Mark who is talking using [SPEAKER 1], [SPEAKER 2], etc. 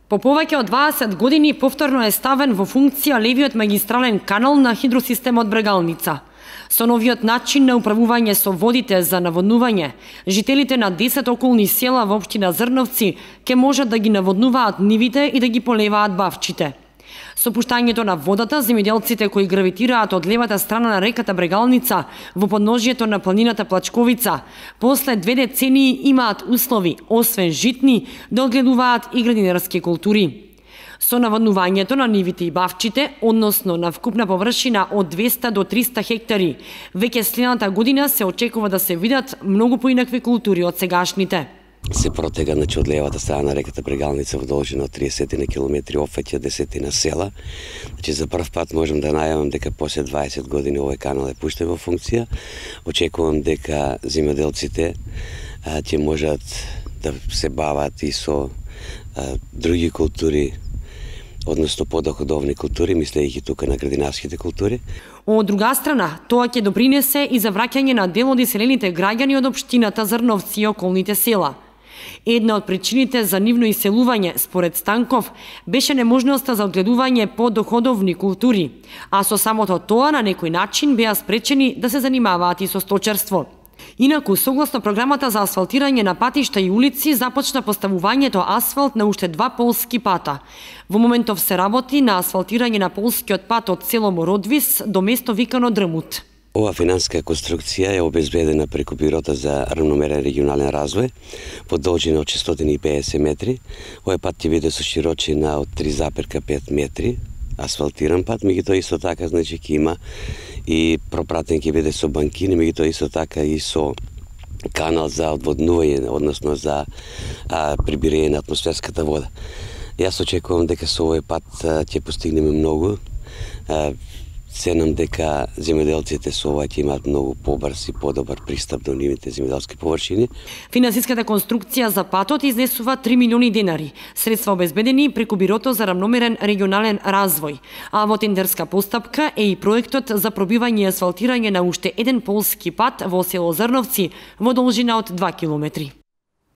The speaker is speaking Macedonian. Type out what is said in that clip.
[SPEAKER 1] По повеќе од 20 години повторно е ставен во функција левиот магистрален канал на хидросистемот Брегалница. Со новиот начин на управување со водите за наводнување, жителите на 10 околни села во општина Зрновци ќе можат да ги наводнуваат нивите и да ги полеваат бавчите. Со пуштањето на водата, земјоделците кои гравитираат од левата страна на реката Брегалница во подножјето на планината Плачковица, после 2 децении имаат услови, освен житни, да одгледуваат и градинарски култури. Со наводнувањето на нивите и бавчите, односно на вкупна површина од 200 до 300 хектари, веќе следната година се очекува да се видат многу поинакви култури од сегашните.
[SPEAKER 2] Се протега од левата страна на реката Брегалница во должина од 30 на километри, опфаќа 10 на села. За прв пат можам да најавам дека после 20 години овој канал е пуштен во функција. Очекувам дека земјоделците ќе можат да се бават и со други култури, односно подоходовни култури, мислејќи тука на градинарските култури.
[SPEAKER 1] Од друга страна, тоа ќе допринесе и за враќање на дел од иселените граѓани од општината Зрновци и околните села. Една од причините за нивно иселување, според Станков, беше неможноста за одгледување по доходовни култури, а со самото тоа на некој начин беа спречени да се занимаваат и со сточарство. Инаку, согласно програмата за асфалтирање на патишта и улици, започна поставувањето асфалт на уште 2 полски пата. Во моментов се работи на асфалтирање на полскиот пат од село Мородвис до место викано Дрмут.
[SPEAKER 2] Ова финансиска конструкција е обезбедена преку Бирото за рамномерен регионален развој по должина од 650 метри. Овој пат ќе биде со широчина од 3,5 метри, асфалтиран пат, меѓутоа исто така значи ќе има и пропратен ќе биде со банкини, меѓутоа исто така и со канал за одводнување, односно за прибирање на атмосферската вода. Јас очекувам дека со овој пат ќе постигнеме многу. Ценам дека земјоделците со ова ќе имаат многу побрз и подобар пристап до нивните земјоделски површини.
[SPEAKER 1] Финансиската конструкција за патот изнесува 3 милиони денари, средства обезбедени преку Бирото за рамномерен регионален развој, а во тендерска постапка е и проектот за пробивање и асфалтирање на уште еден полски пат во село Зрновци во должина од 2 километри.